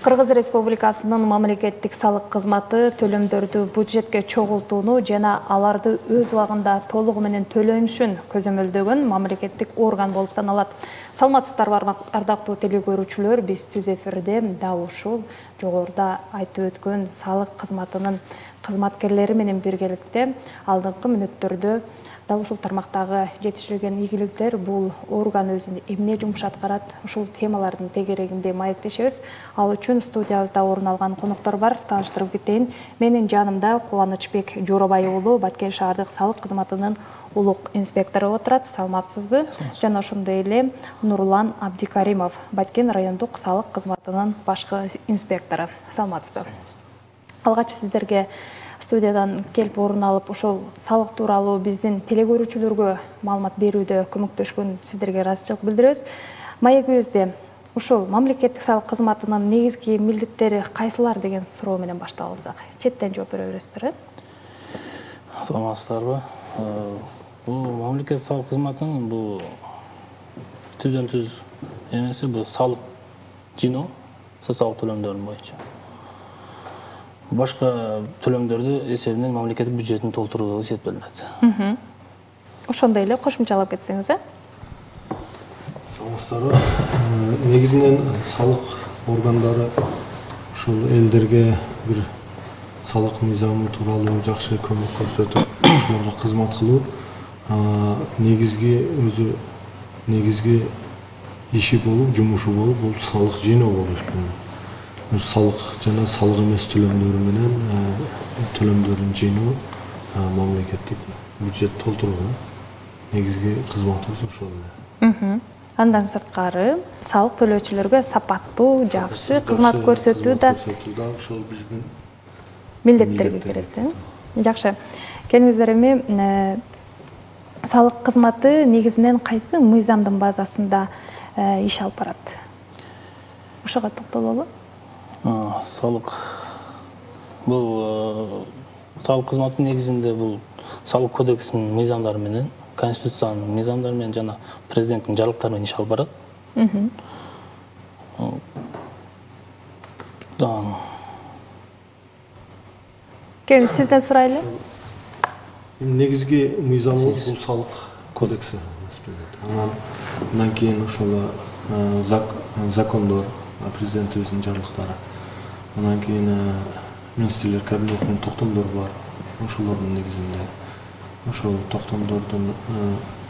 Кыргыз Республикасынын мамлекеттик салык кызматы төлөмдөрдү бюджетке чогултууну жана аларды өз убагында толугу менен төлөнүшүн көзөмөлдөгөн мамлекеттик орган болуп саналат. Саламатсыздарбы ардактуу телекөрүүчүлөр, биз түз эфирде дал ушул жогоруда айтып өткөн салык кызматынын кызматкерлери менен биргеликте алдыңкы мүнөттөрдө дал ушул тармактагы жетишилген ийгиликтер, бул орган өзүн эмне жумуш аткарат, ушул темалардын тегерегинде маектешебиз. Ал үчүн студиябызда орун алган коноктор бар. Тааныштырып кетейин. Менин жанымда Кубанычбек Жоробай уулу Баткен шаардык салык кызматынын улук инспектору отурат. Саламатсызбы? Жана ошондой эле Нурлан Абдикаримов, Баткен райондук салык кызматынын башкы инспектору. Саламатсызбы? Алгач сиздерге студиядан келип орун алып, ошол салык тууралуу биздин телекөрүүчүлөргө маалымат берүүдө көмөктөшкөн сиздерге ыраазычылык билдиребиз. Маегибизде ушул мамлекеттик салык кызматынын негизги милдеттери кайсылар деген суроо менен баштап алсак, четтен жооп бере бересиздер, Саламатсыздарбы? Бул мамлекеттик салык кызматынын бул түздөн түз эмеси, бул салык жиноо социалдык төлөмдөрдүн боюнча. Башка төлөмдөрдү эсебинен мамлекеттик бюджеттин толтуруу эсептелинет. Ошондой эле кошумчалап кетсеңиз, Саламатсыздарбы? Негизинен салык органдары ушул элдерге бир салык мыйзамы тууралуу жакшы көмөк көрсөтүп, ошолорго кызмат кылуу негизги иши болуп, жумушу болуп, бул салык жиноо болуп эсептелет. Салык жана салык эмес төлөмдөрү менен төлөмдөрүн жиноо, мамлекеттик бюджет толтуруу негизги кызматыбыз ошол эле. Андан сырткары салык төлөөчүлөргө сапаттуу, жакшы кызмат көрсөтүү да ошол биздин милдеттерге кирет. Жакшы. Келиңиздер, эми салык кызматы негизинен кайсы мыйзамдын базасында иш алып барат? Ошого токтололу. Салык бул салык кызматынын негизинде бул салык кодексинин мыйзамдары менен, конституциянын мыйзамдары менен жана президенттин жарлыктары менен иш алып барат. Келин, сизден сурайлы. Негизги мыйзамыбыз бул салык кодекси. Андан кийин ошол закондор, президентибиздин жарлыктары. Андан кийин министрлер кабинетинин токтомдору бар. Ошолордун негизинде, ошол токтомдордун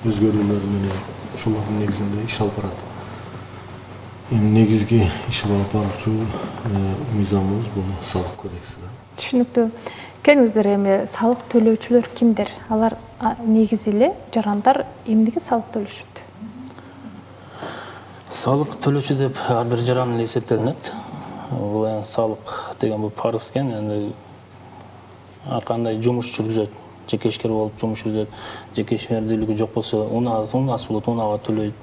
өзгөрүүлөрү менен ошолордун негизинде иш алып барат. Негизги иш алып баруучу мыйзамыбыз бул салык кодекси. Түшүнүктүү. Келиңиздер, эми салык төлөөчүлөр кимдер? Алар негизи эле жарандар эмнеге салык төлөшөт? Салык төлөөчү деп ар бир жаран эле эсептелинет. Бул салык деген бул парыз экен, эми ар кандай жумуш жүргүзөт, жеке ишкер болуп жумуш жүргүзөт, жеке ишмердүүлүгү жок болсо, унаасы болот, унага төлөйт,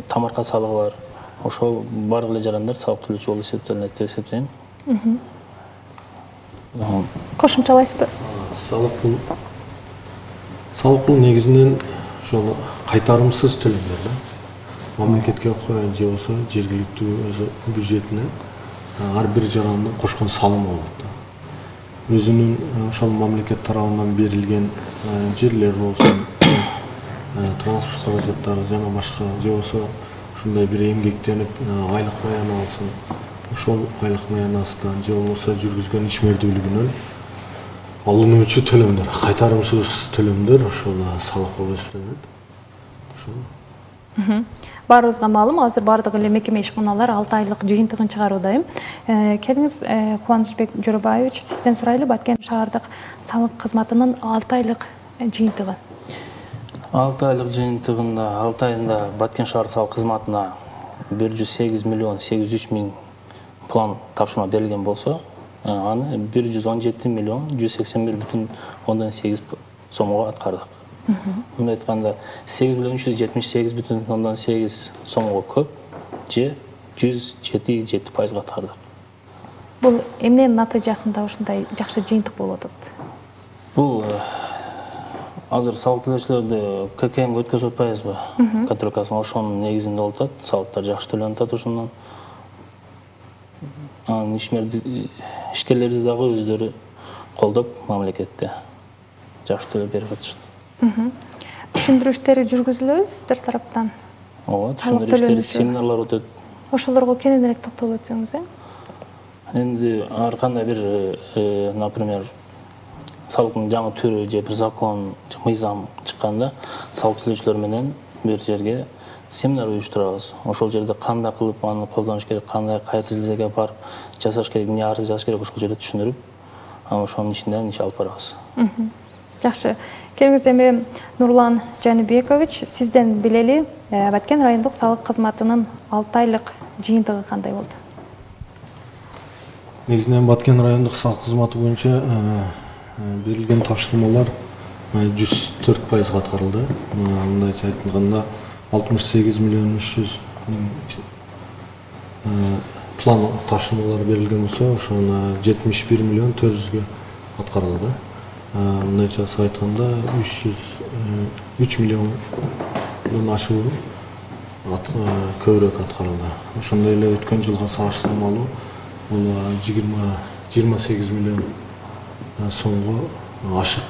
тамарка салыгы бар. Ошол баардык эле жарандар салык төлөөчү болуп эсептелинет деп эсептейм. Кошумчалайсызбы? Салык бул негизинен ошол кайтарымсыз төлөмдөр. Мамлекетке же болсо жергиликтүү өз бюджетине ар бир жарандын кошкон салымы болот. Өзүнүн ошол мамлекет тарабынан берилген жерлер болсун, транспорт каражаттары жана башка, же болсо ушундай бир эмгектенип айлык маяна алсын, ошол айлык маянасынан же болбосо жүргүзгөн ишмердүүлүгүнөн алынуучу төлөмдөр, кайтарымсыз төлөмдөр ошол салык болуп эсептелет. Ошол. Баарыбызга маалым, азыр баардык эле мекеме ишканалар 6 айлык жыйынтыгын чыгарууда. Келиңиз, Кубанычбек Жоробаевич, сизден сурайлы, Баткен шаардык салык кызматынын 6 айлык жыйынтыгы. 6 айлык жыйынтыгында 6 айында Баткен шаардык салык кызматына 108 миллион 803 миң план тапшырма берилген болсо, аны 117 миллион 181,8 сомго аткардык. Мындай айтканда 8 миллион 378,8 сомго көп, же 107,7% аткардык. Бул эмненин натыйжасында ушундай жакшы жыйынтык болуп атат? Бул азыр салык төлөөчүлөрдү ККМге өткөзүп атпайбызбы? Контролькасын ошонун негизинде болуп атат, салыктар жакшы төлөнүп атат ошондон. анан ишкерлерибиз дагы өздөрү колдоп мамлекетте жакшы төлөп берип атышат. Түшүндүрүү иштери жүргүзүлөбү сиздер тараптан? Ооба, түшүндүрүү иштери, семинарлар өтөт. Ошолорго кененирээк токтолуп өтсөңүз, Энди ар кандай бир, например, салыктын жаңы түрү же бир закон, мыйзам чыкканда салык төлөөчүлөр менен бир жерге семинар уюштурабыз. Ошол жерде кандай кылып аны колдонуш керек, кандай кайсы жерге барып жасаш керек, эмне арыз жазыш керек, ошол жерде түшүндүрүп, анан ошонун ичинде иш алып барабыз. Жакшы. Келиңиз эми Нурлан Жаныбекович, сизден билели, Баткен райондук салык кызматынын 6 айлык жыйынтыгы кандай болду? Негизинен Баткен райондук салык кызматы боюнча берилген тапшырмалар 104% аткарылды. Мындайча айтканда 68 миллион 300 миң план тапшырмалар берилген болсо, ошону 71 миллион 400ге аткарылды. Мындайча айтканда 3 миллиондон ашык көбүрөөк аткарылды. Ошондой эле өткөн жылга салыштырмалуу бул 28 миллион сомго ашык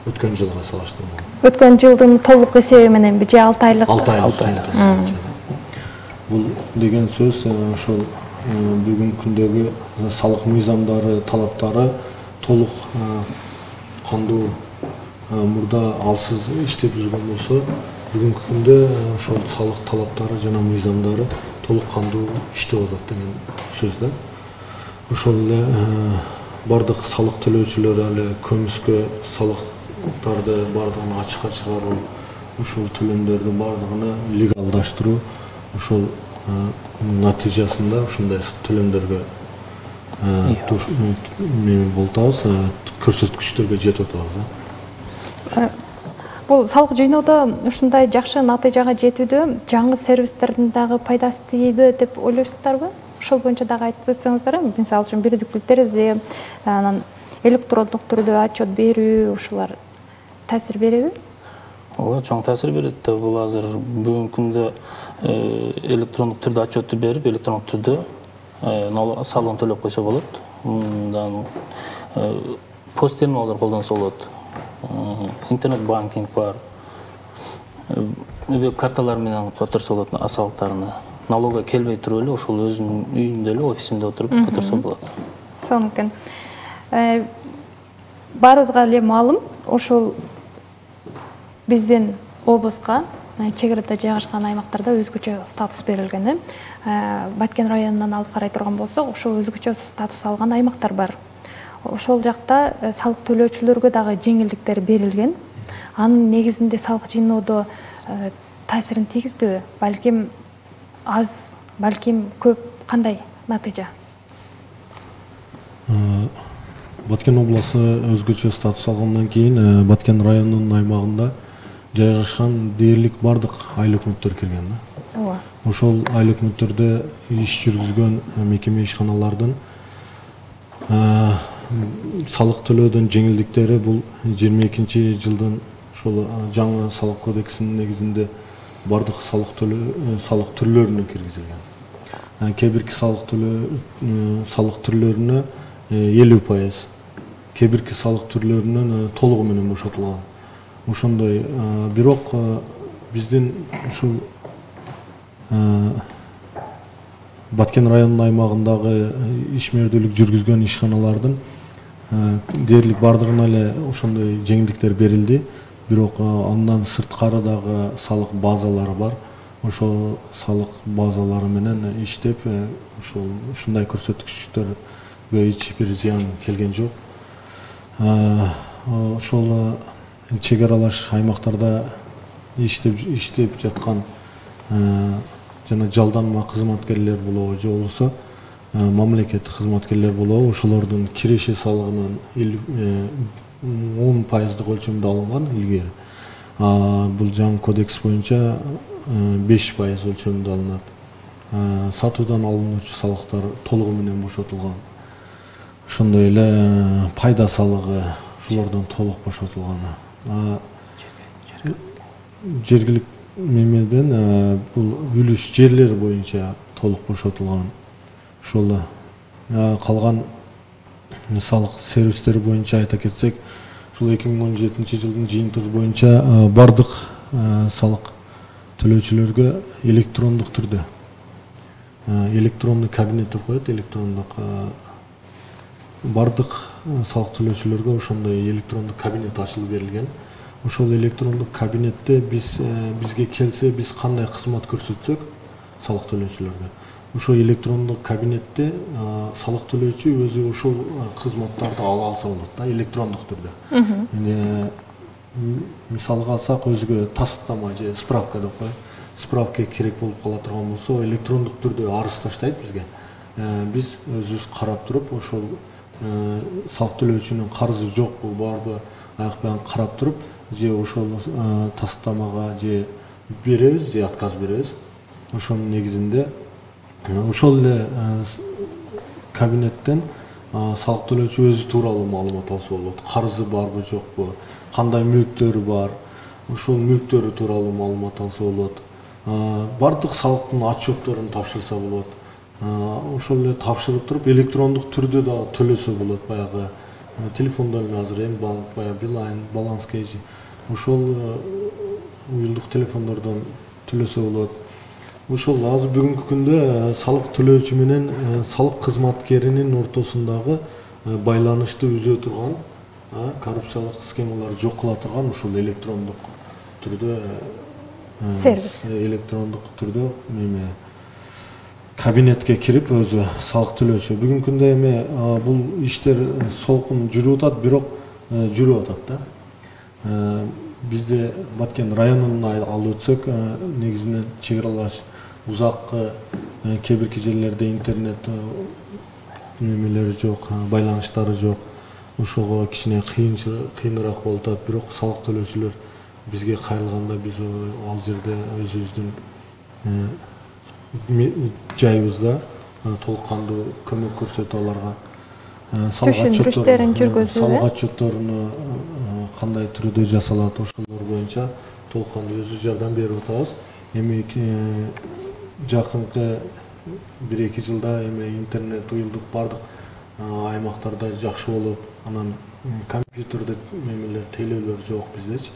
өткөн жылга салыштырмалуу. Өткөн жылдын толук эсеби мененби же 6 айлык? 6 айлык. Бул деген сөз ошол бүгүнкү күндөгү салык мыйзамдары, талаптары толук кандуу мурда алсыз иштеп жүргөн болсо, бүгүнкү күндө ошол салык талаптары жана мыйзамдары толук кандуу иштеп атат деген сөз да. Ошол эле бардык салык төлөөчүлөр эле көмүскө салыктарды бардыгын ачыкка чыгаруу, ошол төлөмдөрдү бардыгын легалдаштыруу, ошол натыйжасында ушундай төлөмдөргө болуп атабыз, көрсөткүчтөргө жетип атабыз. Бул салык жыйноодо ушундай жакшы натыйжага жетүүдө жаңы сервистердин дагы пайдасы тийди деп ойлойсуздарбы? Ошол боюнча дагы айтып өтсөңүздөр, мисалы үчүн бирдиктүү терезе, анан электрондук түрдө отчет берүү, ушулар таасир береби? Ооба, чоң таасир берет да. Бул азыр бүгүнкү күндө электрондук түрдө отчетту берип, электрондук түрдө салыгын төлөп койсо болот. Мындан пост терминалдар колдонсо болот. Интернет банкинг бар. Веб карталар менен которсо болот салыктарыны. Налогко келбей туруп эле ошол өзүнүн үйүндө эле, офисинде отуруп которсо болот. Сонун. Баарыбызга эле маалым, ошол биздин облуска чек арада жайгашкан аймактарда өзгөчө статус берилген. Баткен районунан алып карай турган болсок, ошол өзгөчө статус алган аймактар бар. Ошол жакта салык төлөөчүлөргө дагы жеңилдиктер берилген. Анын негизинде салык жыйноодо таасирин тийгиздиби? Балким аз, балким көп, кандай натыйжа? Баткен областы өзгөчө статус алгандан кийин Баткен районунун аймагында жайгашкан дээрлик бардык айыл өкмөттөр кирген. Ошол айыл өкмөттөрдө иш жүргүзгөн мекеме ишканалардын салык төлөөдөн жеңилдиктери бул 22-жылдын ошол жаңы салык кодексинин негизинде бардык салык түрлөрүнө киргизилген. Кээ бирки салык түрлөрүнө 50%, кээ бирки салык түрлөрүнөн толугу менен бошотулган. Ошондой, бирок биздин ушул Баткен районунун аймагындагы ишмердүүлүк жүргүзгөн ишканалардын дээрлик бардыгына эле ошондой жеңилдиктер берилди. Бирок андан сырткары дагы салык базалары бар. Ошол салык базалары менен иштеп, ушундай көрсөткүчтөргө эч бир зыян келген жок. Ошол чек аралаш аймактарда иштеп жаткан жана жалданма кызматкерлер болобу же болбосо мамлекеттик кызматкерлер болобу, ошолордун киреше салыгынын 10% өлчөмдө алынган илгери. Бул жаңы кодекс боюнча 5% өлчөмдө алынат. Сатуудан алынуучу салыктар толугу менен бошотулган. Ошондой эле пайда салыгы ошолордон толук бошотулган. Жергилик мемеден бул үлүш жерлер боюнча толук бошотулган. Ошол Калган мисалык сервистер боюнча айта кетсек, ушул 2017 жылдын жыйынтыгы боюнча бардык салык төлөөчүлөргө электрондук түрдө электрондук кабинет деп коет, электрондук бардык салык төлөөчүлөргө ошондой электрондук кабинет ачылып берилген. Ошол электрондук кабинетте бизге келсе, биз кандай кызмат көрсөтсөк салык төлөөчүлөргө, ошол электрондук кабинетте салык төлөөчү өзү ушул кызматтарды ала алса болот да, электрондук түрдө. Мисалга алсак, өзүгө тастама же справка деп коет, справка керек болуп кала турган болсо, электрондук түрдө арыз таштайт бизге. Биз өзүбүз карап туруп, ошол салык төлөөчүнүн карызы жокпу, барбы, аякпай карап туруп, же ошол тастамага же беребиз, же отказ беребиз. Ошонун негизинде ошол эле кабинеттен салык төлөөчү өзү тууралуу маалымат алса болот. Карызы барбы, жокпу, кандай мүлктөрү бар, ошол мүлктөрү тууралуу маалымат алса болот. Бардык салыктын отчетторун тапшырса болот. Ошол эле тапшырып туруп, электрондук түрдө да төлөсө болот. Баягы телефондон эле азыр М-банк, баягы Билайн, Баланс Кейжи, ошол уюлдук телефондордон төлөсө болот. Ошол азыр бүгүнкү күндө салык төлөөчү менен салык кызматкеринин ортосундагы байланышты үзө турган, коррупциялык схемалар жок кыла турган ушул электрондук түрдө сервис, электрондук түрдө кабинетке кирип өзү салык төлөөчү. Бүгүнкү күндө эми бул иштер солкун жүрүп атат, бирок жүрүп атат да. Бизде Баткен районун алып өтсөк, негизинен чек аралаш узаккы кээ бирки жерлерде интернет немелери жок, байланыштары жок. Ошого кичине кыйыныраак болуп атат, бирок салык төлөөчүлөр бизге кайрылганда биз ал жерде өзүбүздүн жайыбызда толук кандуу көмөк көрсөтүп аларга түшүндүрүштөрүн жүргүзүү, салык отчетторуну кандай түрдө жасалат, ошолор боюнча толук кандуу өзүбүз жардам берип атабыз. Эми жакынкы 1-2 жылда эми интернет уюлдук бардык аймактарда жакшы болуп, анан компьютерде немелер, тейлөөлөр жок биздечи.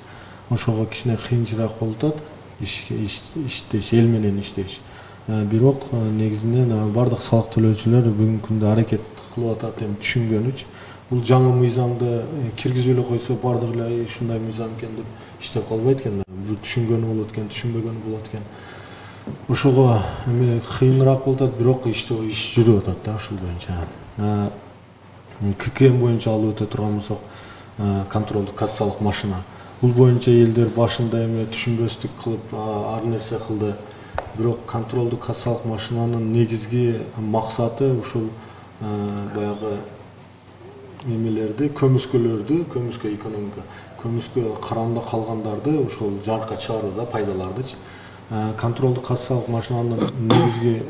Ошого кичине кыйынчыраак болуп атат иштеш, эл менен иштеш. Бирок негизинен бардык салык төлөөчүлөр бүгүнкү күндө аракет кылып атат, эми түшүнгөнүч. Бул жаңы мыйзамды киргизип эле койсо, бардык эле ушундай мыйзам экен деп иштеп калбайт экен. Бул түшүнгөнү болот экен, түшүнбөгөнү болот экен. Ошого эми кыйыныраак болуп атат, бирок иш жүрүп атат да ушул боюнча. ККМ боюнча алып өтө турган болсок, контролдук кассалык машина. Бул боюнча элдер башында эми түшүнбөстүк кылып ар нерсе кылды. Бирок контролдук кассалык машинанын негизги максаты ушул баягы немелерди, көмүскөлөрдү, көмүскө экономика, көмүскө каранда калгандарды ошол жарыкка чыгаруу да, пайдалардычы. Контролдук кассалык машинанын негизги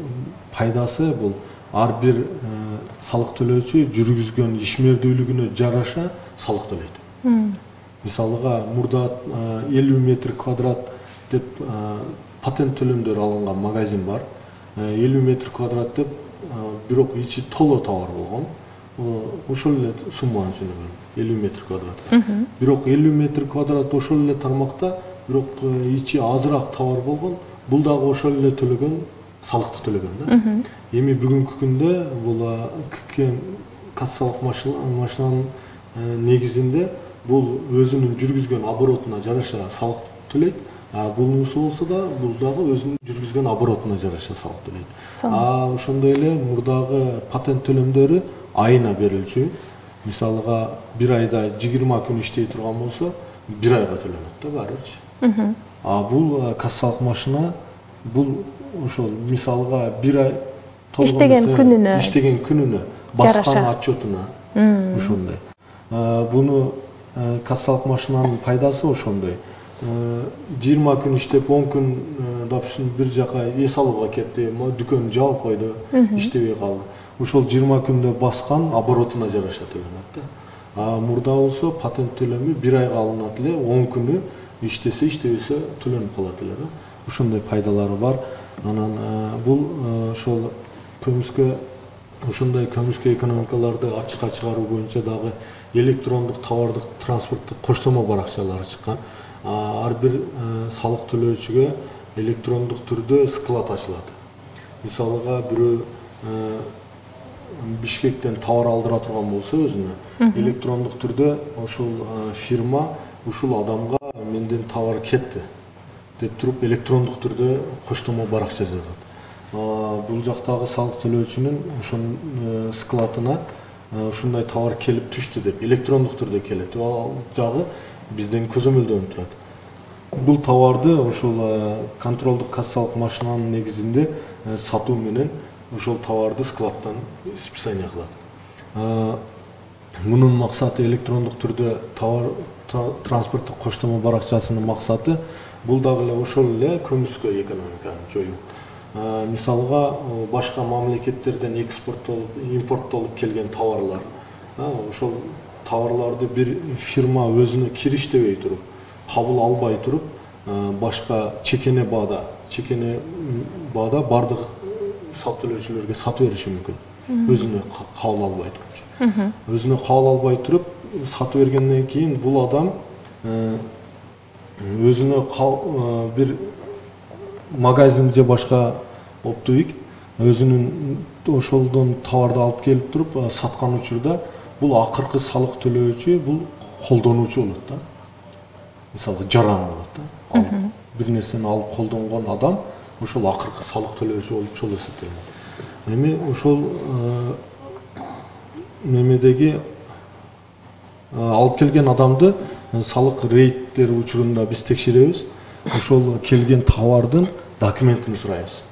пайдасы бул ар бир салык төлөөчү жүргүзгөн ишмердүүлүгүнө жараша салык төлөйт. Мисалыга мурда 50 метр квадрат деп патент төлөмдөр алынган магазин бар. 50 метр квадрат деп, бирок ичи толо товар болгон. Ошол эле сумманы төлөгөн, 50 метр квадрат. Бирок 50 метр квадрат ошол эле тармакта, бирок ичи азыраак товар болгон. Бул дагы ошол эле төлөгөн, салыкты төлөгөн да. Эми бүгүнкү күндө бул ККМ кассалык машинанын негизинде бул өзүнүн жүргүзгөн оборотуна жараша салык төлөйт. Бунусу болсо да, бул дагы өзүнүн жүргүзгөн оборотуна жараша салык төлөйт. Ошондой эле мурдагы патент төлөмдөрү айына берилчү. Мисалыга бир айда 20 күн иштей турган болсо, бир айга төлөнөт да баары бирчи. Бул кассалык машина, бул ошол мисалыга бир ай иштеген күнүнө баскан отчетуна ошондой. Буну кассалык машинанын пайдасы ошондой. 20 күн иштеп, 10 күн, допустим, бир жака эс алууга кетти, дүкөн жабып койду, иштебей калды. Ошол 20 күндө баскан оборотуна жараша төлөнөт да. Мурда болсо патент төлөмү бир айга алынат эле, 10 күнү иштесе, иштебесе төлөнүп калат эле да. Ошондой пайдалары бар. Анан бул ошол көмүскө ушундай көмүскө экономикаларды ачыкка чыгаруу боюнча дагы электрондук товардык транспорттук коштомо баракчалары чыккан. Ар бир салык төлөөчүгө электрондук түрдө склад ачылат. Мисалыга бирөө Бишкектен товар алдыра турган болсо өзүнө электрондук түрдө ошол фирма ушул адамга менден товар кетти деп туруп электрондук түрдө коштомо баракча жазат. Бул жактагы салык төлөөчүнүн ошонун складына ушундай товар келип түштү деп электрондук түрдө келет. Ал жагы бизден көзөмөлдөнүп турат. Бул товарды ошол контролдук кассалык машинанын негизинде сатуу менен ошол товарды складтан списание кылат. Мунун максаты электрондук түрдө товар транспорттук коштомо баракчасынын максаты бул дагы эле ошол эле көмүскө экономиканы жоюу. Мисалга башка мамлекеттерден импорттолуп келген товарлар, ошол товарларды бир фирма өзүнө кириштебей туруп, кабыл албай туруп, башка чекене баада бардык салык төлөөчүлөргө сатып бериши мүмкүн. Өзүнө кабыл албай туруп. Өзүнө кабыл албай туруп сатып бергенден кийин бул адам өзүнө бир магазин же башка оптовик өзүнүн ошолдон товарды алып келип туруп саткан учурда бул акыркы салык төлөөчү бул колдонуучу болот да. Мисалга жаран болот да. Бир нерсени алып колдонгон адам ошол акыркы салык төлөөчү болуп ошол эсептелет. Эми ошол немедеги алып келген адамды салык рейдтер учурунда биз текшеребиз. Ошол келген товардын документин сурайбыз.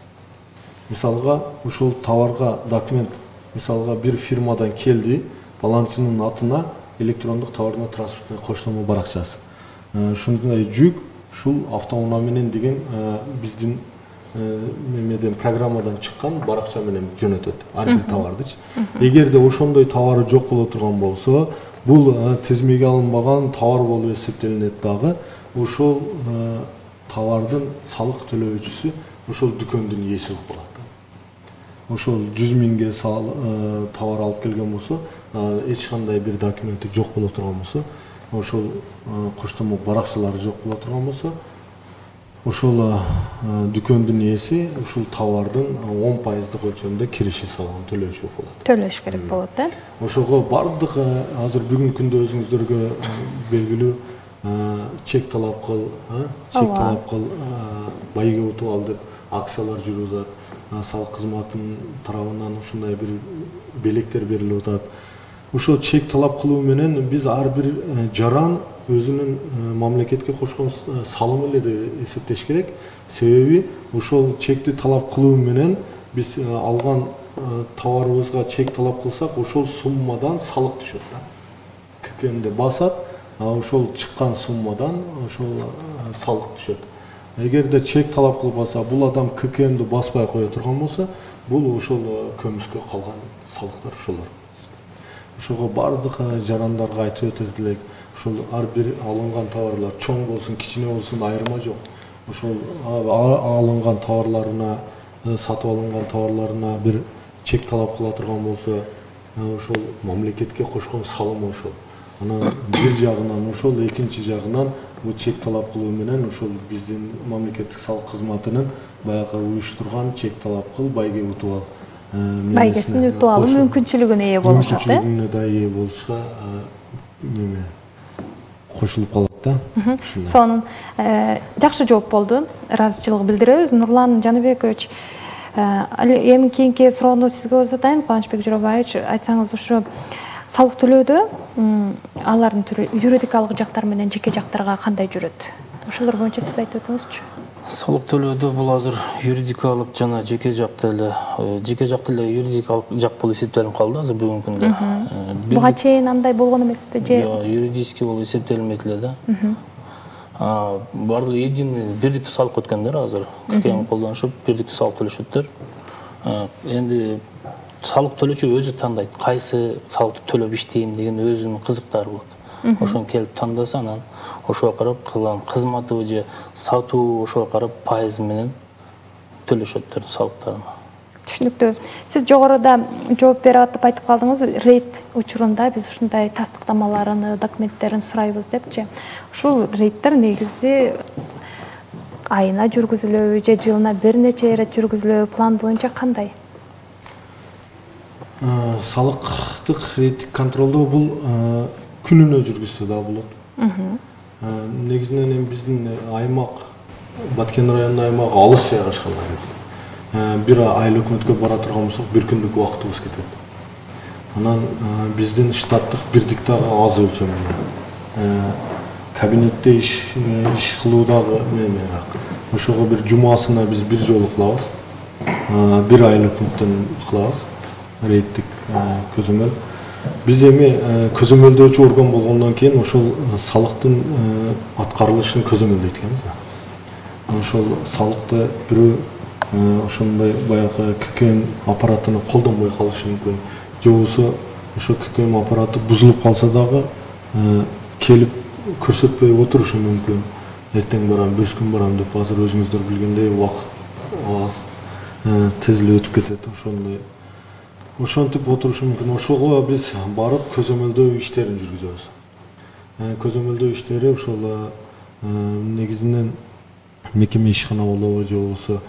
Мисалга ушул товарга документ, мисалга бир фирмадан келди, баланчынын атына электрондук товардын транспорттук коштомо баракчасы. Ушундай жүк ушул автоунаа менен деген биздин мемеден программадан чыккан баракча менен жөнөтөт ар бир товардычы. Эгерде ошондой товары жок боло турган болсо, бул тизмеге алынбаган товар болуп эсептелинет дагы. Ошол товардын салык төлөөчүсү ошол дүкөндүн ээси болуп калат. Ошол 100 миңге товар алып келген болсо, эч кандай бир документи жок боло турган болсо, ошол коштомо баракчалары жок боло турган болсо, ошол дүкөндүн ээси ушул товардын 10% өлчөмдө кириши салыгын төлөөчү болуп калат. Төлөш керек болот да. Ошого бардык азыр бүгүнкү күндө өзүңүздөргө белгилүү чек талап кыл, байге утуп ал деп акциялар жүрүп атат. Салык кызматынын тарабынан ушундай бир белектер берилип атат. Ошол чек талап кылуу менен биз ар бир жаран өзүнүн мамлекетке кошкон салымы эле деп эсептеш керек. Себеби ошол чекти талап кылуу менен биз алган товарыбызга чек талап кылсак, ошол суммадан салык түшөт да. ККМди басат, ошол чыккан суммадан ошол салык түшөт. Эгерде чек талап кылбаса, бул адам ККМди баспай кое турган болсо, бул ошол көмүскө калган салыктар ошолор. Ошого бардык жарандарга айтып өтөт элек, ошол ар бир алынган товарлар чоң болсун, кичине болсун айырма жок. Ошол алынган товарларына, сатып алынган товарларына бир чек талап кыла турган болсо, ошол мамлекетке кошкон салым ошол. Анан бир жагынан ошол, экинчи жагынан бул чек талап кылуу менен ошол биздин мамлекеттик салык кызматынын баягы уюштурган чек талап кыл, байге утуп ал. Байгесин утуп алуу мүмкүнчүлүгүнө ээ болушат, э? Мүмкүнчүлүгүнө да ээ болушка кошулуп калат да. Сонун жакшы жооп болду. Ыраазычылык билдиребиз. Нурлан Жаныбекович, эми кийинки суроону сизге узатайын. Кубанычбек Жорабаевич, айтсаңыз ушу салык төлөөдө алардын түрү юридикалык жактар менен жеке жактарга кандай жүрөт? Ошолор боюнча сиз айтып өтүңүзчү. Салык төлөөдө бул азыр юридикалык жана жеке жакта эле юридикалык жак болуп эсептелип калды азыр бүгүнкү күндө. Буга чейин андай болгон эмеспи же? Юридически болуп эсептелинбейт эле да. Бардыгы единый бирдиктүү салык өткөндөр азыр ККМ колдонушуп бирдиктүү салык төлөшөттөр. Энди салык төлөөчү өзү тандайт, кайсы салыкты төлөп иштейм деген өзүнүн кызыктары болот. Ошону келип тандаса, анан ошого карап кылган кызматы же сатуу ошого карап пайыз менен төлөшөттөр салыктарын. Түшүнүктүү. Сиз жогоруда жооп берип атып айтып калдыңыз, рейд учурунда биз ушундай тастыктамаларын, документтерин сурайбыз депчи. Ушул рейдтер негизи айына жүргүзүлөбү же жылына бир нече ирет жүргүзүлөбү, план боюнча кандай? Салыктык рейдтик контролдоо бул күнүнө жүргүзсө да болот. Негизинен эми биздин аймак, Баткен районунун аймагы алыс жайгашкан. Бир айыл өкмөткө бара турган болсок, бир күндүк убактыбыз кетет. Анан биздин штаттык бирдик дагы аз өлчөмүндө. Кабинетте иш кылуу дагы мененак. Ошого бир жумасына биз бир жолу кылабыз. Бир айыл өкмөттөн кылабыз рейдтик көзөмөл. Биз эми көзөмөлдөөчү орган болгондон кийин ошол салыктын аткарылышын көзөмөлдөйт экенбиз. Ошол салыкты бирөө ошондой баягы ККМ аппаратыны колдонбой калышы мүмкүн. Же болбосо ошо ККМ аппараты бузулуп калса дагы келип көрсөтпөй отурушу мүмкүн. Эртең барам, бүрс күн барам деп азыр өзүңүздөр билгендей убакыт аз тез эле өтүп кетет. Ошентип отурушу мүмкүн. Ошого биз барып көзөмөлдөө иштерин жүргүзөбүз. Көзөмөлдөө иштери ошол негизинен мекеме ишкана болобу, же болбосо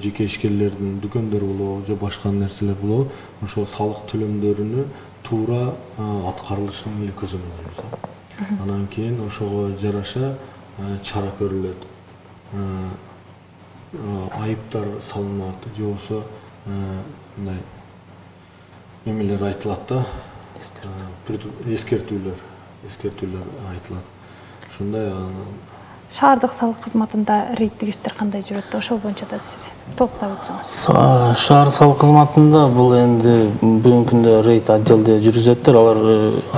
жеке ишкерлердин дүкөндөрү болобу, же башка нерселер болобу, ошол салык төлөмдөрүнү туура аткарылышын эле көзөмөлдөйбүз. Анан кийин ошого жараша чара көрүлөт. Айыптар салынат, же болбосо мындай эмелер айтылат да, эскертүүлөр айтылат. Ушундай Шаардык салык кызматында рейдтик иштер кандай жүрөт? Ошол боюнча да сиз толуктап өтсөңүз. Шаар салык кызматында бул энди бүгүнкү күндө рейд отделде жүргүзөттөр. Алар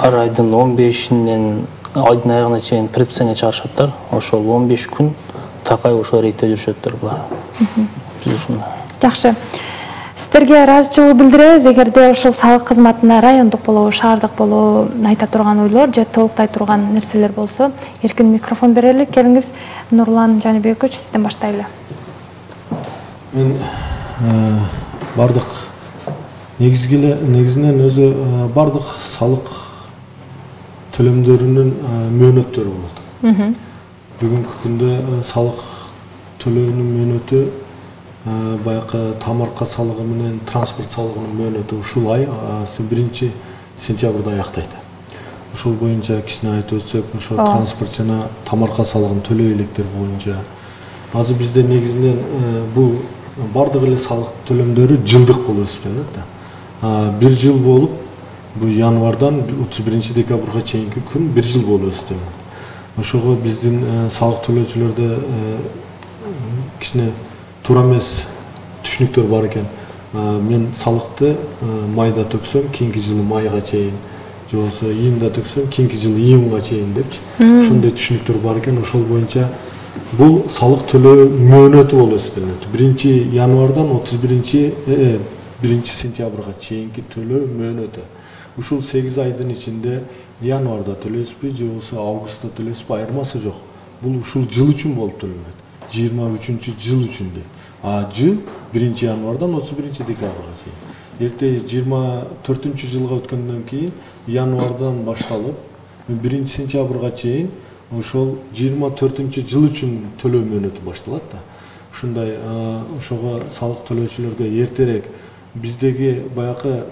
ар айдын 15-инен айдын аягына чейин предписание чыгарышаттар. Ошол 15 күн такай ошол рейдте жүрүшөттөр булар. Жакшы. Сиздерге ыраазычылык билдиребиз. Эгерде ошол салык кызматына райондук болобу, шаардык болобу айта турган ойлор же толуктай турган нерселер болсо, эркин микрофон берели. Келиңиз, Нурлан Жаныбекович, сизден баштайлы. Мен бардык негизинен өзү бардык салык төлөмдөрүнүн мөөнөттөрү болот. Бүгүнкү күндө салык төлөөнүн мөөнөтү баягы тамарка салыгы менен транспорт салыгынын мөөнөтү ушул ай 1 сентябрда аяктайт. Ошол боюнча кичине айтып өтсөк, ошо транспорт жана тамарка салыгын төлөй электер боюнча азыр бизде негизинен бул бардык эле салык төлөмдөрү жылдык болуп эсептелет да. Бир жыл болуп, бул январдан 31 декабрга чейинки күн бир жыл болуп эсептелет. Ошого биздин салык төлөөчүлөрдө кичине туура эмес түшүнүктөр бар экен. Мен салыкты майда төксөм, кийинки жылы майга чейин, же болбосо июнда төксөм, кийинки жылы июнга чейин депчи. Ошондой түшүнүктөр бар экен. Ошол боюнча бул салык төлөө мөөнөтү болуп эсептелет. 1 январдан 1 сентябрга чейинки төлөө мөөнөтү. Ушул 8 айдын ичинде январда төлөйсүзбү, же болбосо августта төлөйсүзбү, айырмасы жок. Бул ушул жыл үчүн болуп төлөнөт. 23-жыл үчүн дейт. Жыл 1 январдан 31 декабрга чейин. Эрте 24-жылга өткөндөн кийин январдан башталып 1 сентябрга чейин ошол 24-жыл үчүн төлөө мөөнөтү башталат да. Ушундай ошого салык төлөөчүлөргө эртерээк биздеги баягы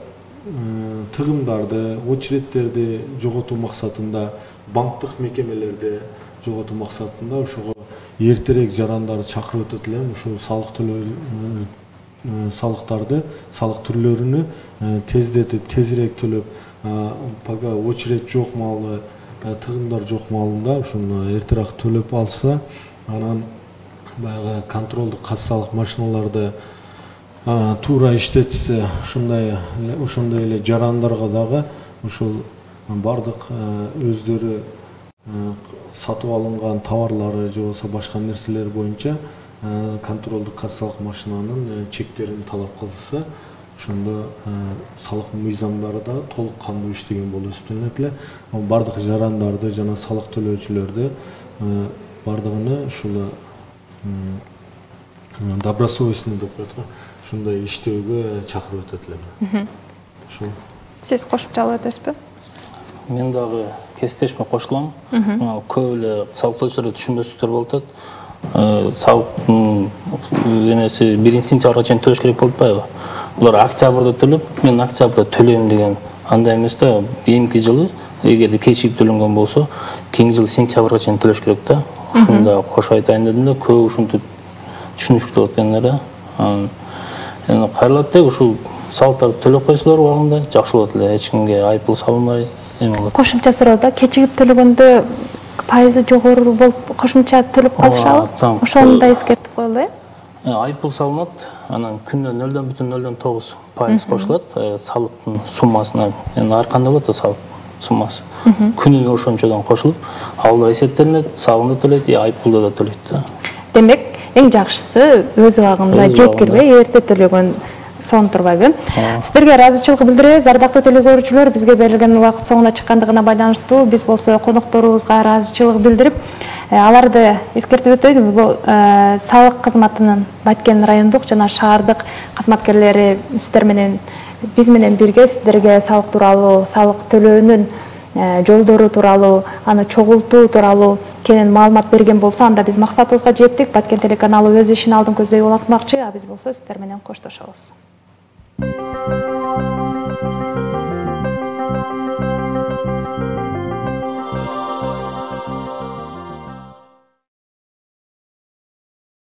тыгымдарды, очередтерди жоготуу максатында, банктык мекемелерде жоготуу максатында ошого эртерээк жарандарды чакырып өтөт элем. Ушул салык төлөө салыктарды, салык түрлөрүнү тездетип, тезирээк төлөп, пока очеред жок маалы, тыгымдар жок маалында ушуну эртерээк төлөп алса, анан баягы контролдук кассалык машиналарды туура иштетсе, ошондой эле жарандарга дагы ушул бардык өздөрү сатып алынган товарлары же болбосо башка нерселер боюнча контролдук кассалык машинанын чектерин талап кылса, ошондо салык мыйзамдары да толук кандуу иштеген болуп эсептелет эле. Бардык жарандарды жана салык төлөөчүлөрдү бардыгыны ушул добросовестный деп коет го. ушундай иштөөгө чакырып өтөт элем. Ушул. Сиз кошумчалап өтөсүзбү? Мен дагы кесиптешиме кошулам. Көп эле салык төлөүчүлөр түшүнбөстүктөр болуп атат. Салыктын эмеси 1-сентябрга чейин төлөш керек болуп атпайбы? Булар октябрда төлөп, мен октябрда төлөйм деген андай эмес да. Эмки жылы эгерде кечигип төлөнгөн болсо, кийинки жылы сентябрга чейин төлөш керек да. Ушуну да кошо айтайын дедим да, көп ушинтип түшүнүшүктүү болот экендер. Эми кайрылат деги ушул салыктарды төлөп койсолор убагында жакшы болот эле, эч кимге айыппул салынбай эме болот. Кошумча суроо да, кечигип төлөгөндө пайызы жогору болуп кошумча төлөп калышабы? Ошону да эскертип коелу, Айыппул салынат, анан күнүнө 0,09% кошулат салыктын суммасына. Эми ар кандай болот да салык суммасы. Күнүнө ошончодон кошулуп, ал да эсептелинет, салык да төлөйт, айыппулду да төлөйт да. Демек, эң жакшысы өз убагында жеткирбей, эрте төлөгөн сонун турбайбы? Сиздерге ыраазычылык билдиребиз. Ардактуу телекөрүүчүлөр, бизге берилген убакыт соңуна чыккандыгына байланыштуу биз болсо конокторубузга ыраазычылык билдирип, аларды эскертип өтөйүн. Бул салык кызматынын Баткен райондук жана шаардык кызматкерлери сиздер менен биз менен бирге сиздерге салык тууралуу, салык төлөөнүн жолдору тууралуу, аны чогултуу тууралуу кенен маалымат берген болсо, анда биз максатыбызга жеттик. Баткен телеканалы өз ишин алдын көздөй улантмакчы, а биз болсо сиздер менен коштошобуз.